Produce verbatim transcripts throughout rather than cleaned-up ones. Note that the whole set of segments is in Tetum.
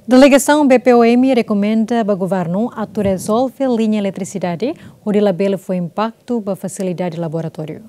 Delegasaun B P O M rekomenda ba governu atu rezolve liña eletrisidade hodi labele fó impaktu ba fasilidade laboratóriu.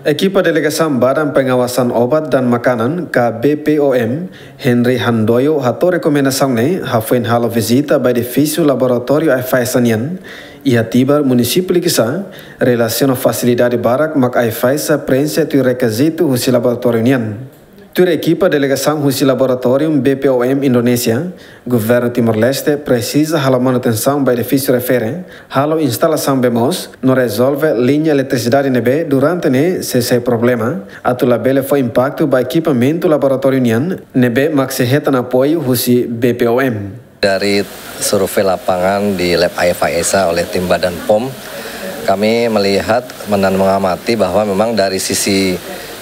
Ekipa delegasaun Badan Pengawasan Obat dan Makanan, ka B P O M, Henry Handoyo hato'o rekomendasaun ne'e hafoin halo vizita ba edifísiu laboratóriu AIFAESA nian iha Tibar, munisípiu Likisá, relasiona fasilidade barak mak AIFAESA preenxe tuir rekizitu husi laboratóriu nian. Tuir ekipa delegasaun husi laboratóriu B P O M Indonézia, governu Timor-Leste presiza halo manutensaun ba edifísiu refere, halo instalasaun bee moos, no rezolve liña eletrisidade ne'ebé durante ne'e sei sai problema, atu labele fó impaktu ba ekipamentu laboratóriu nian, ne'ebé mak sei hetan apoiu husi B P O M. Dari survei lapangan di lab AIFAESA oleh tim Badan POM, kami melihat dan mengamati bahwa memang dari sisi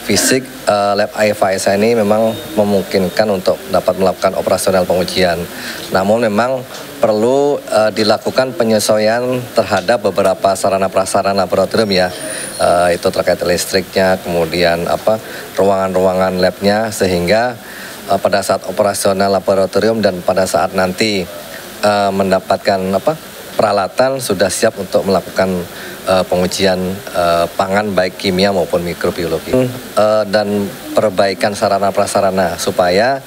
fisik, eh, lab AIFAESA ini memang memungkinkan untuk dapat melakukan operasional pengujian. Namun memang perlu, eh, dilakukan penyesuaian terhadap beberapa sarana prasarana laboratorium ya, eh, itu terkait listriknya, kemudian apa, ruangan-ruangan labnya, sehingga eh, pada saat operasional laboratorium dan pada saat nanti, eh, mendapatkan apa, peralatan sudah siap untuk melakukan, eh, pengujian, eh, pangan baik kimia maupun mikrobiologi. Eh, dan perbaikan sarana prasarana supaya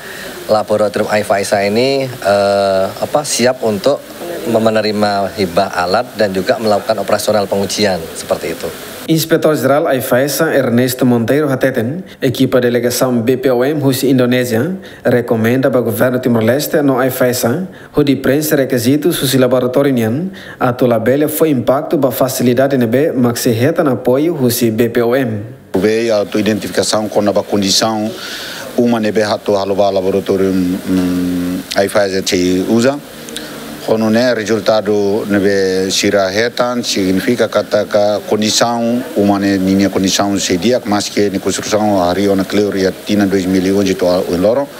laboratorium AIFAESA ini, eh, apa, siap untuk menerima hibah alat dan juga melakukan operasional pengujian seperti itu. Inspetór Jerál AIFAESA Ernesto Monteiro hateten, ekipa delegasaun B P O M husi Indonézia rekomenda ba governu Timor-Leste no AIFAESA hodi preenxe rekizitu husi laboratóriu nian atu labele fó impaktu ba fasilidade ne'ebé mak sei hetan apoiu husi B P O M. Ha'u atu identifikasaun kona-ba kondisaun uma ne'ebé atu halo ba laboratóriu, mm, AIFAESA sei uza. Ho nune'e rezultadu ne'ebé sira hetan signifika katak kondisaun uma ne'e ninia kondisaun sei di'ak, maski nia konstrusaun harii ona kleur iha tinan dois mil e onze to'o ohin loron.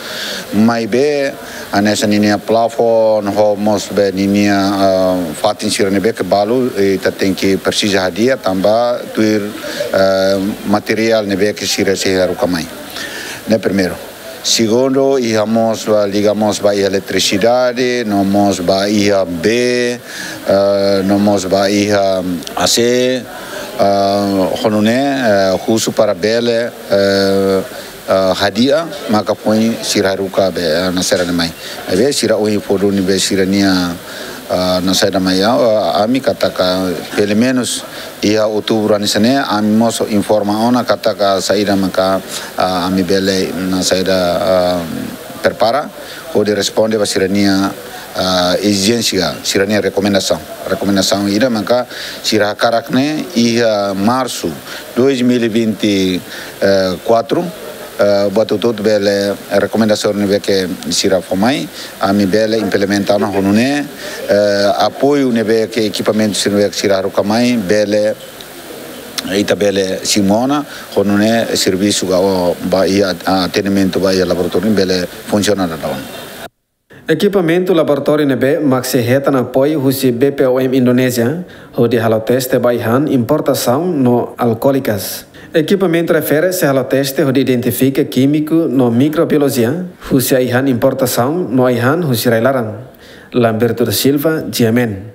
Maibé hanesan ninia plafon ho mós be ninia, ah, fatin sira ne'ebé ke balu, eh, ita tenke presiza hadi'a tanba tuir, eh, materiál ne'ebé ke sira sei haruka mai. Ne'e primeiru. Segundu, iha mós ba, liga mós ba iha eletrisidade, no mós ba iha bee, eh, no mós ba iha A C, eh, ho nune'e, eh, husu para bele, eh, eh, hadi'a, maka foin sira haruka be, eh, nasaida ne'e mai. Maibé sira ohin fó duni be sira-nia, eh, nasaida mai, eh, ami katak pelumenus iha outubru hanesan ne'e, ami mós informa ona katak saida maka, ah, ami bele nasaida, ah, prepara hodi responde ba sira-nia, ah, ezijénsia, sira-nia rekomendasaun. Rekomendasaun ida maka sira hakarak ne'e iha marsu dois mil e vinte e quatro, eh, buat hotu-hotu bele rekomendasaun ne'ebé ke sira fó mai, ami bele implementa ona ho nune'e, eh, apoiu ne'ebé ke ekipamentu sira ne'ebé ke sira haruka mai, bele, ita bele simu ona, ho nune'e servisu ka o ba iha atendimentu ba iha laboratóriu bele funsiona daudaun. Ekipamentu laboratóriu ne'ebé mak sei hetan apoiu husi B P O M Indonézia, hodi halo teste ba ai-han importasaun no alkólikas. Ekipamentu refere sei halo teste hodi identifika kímiku no mikrobiolojia, husi ai-han importasaun no ai-han husi rai-laran. Lamberto da Silva, G M N.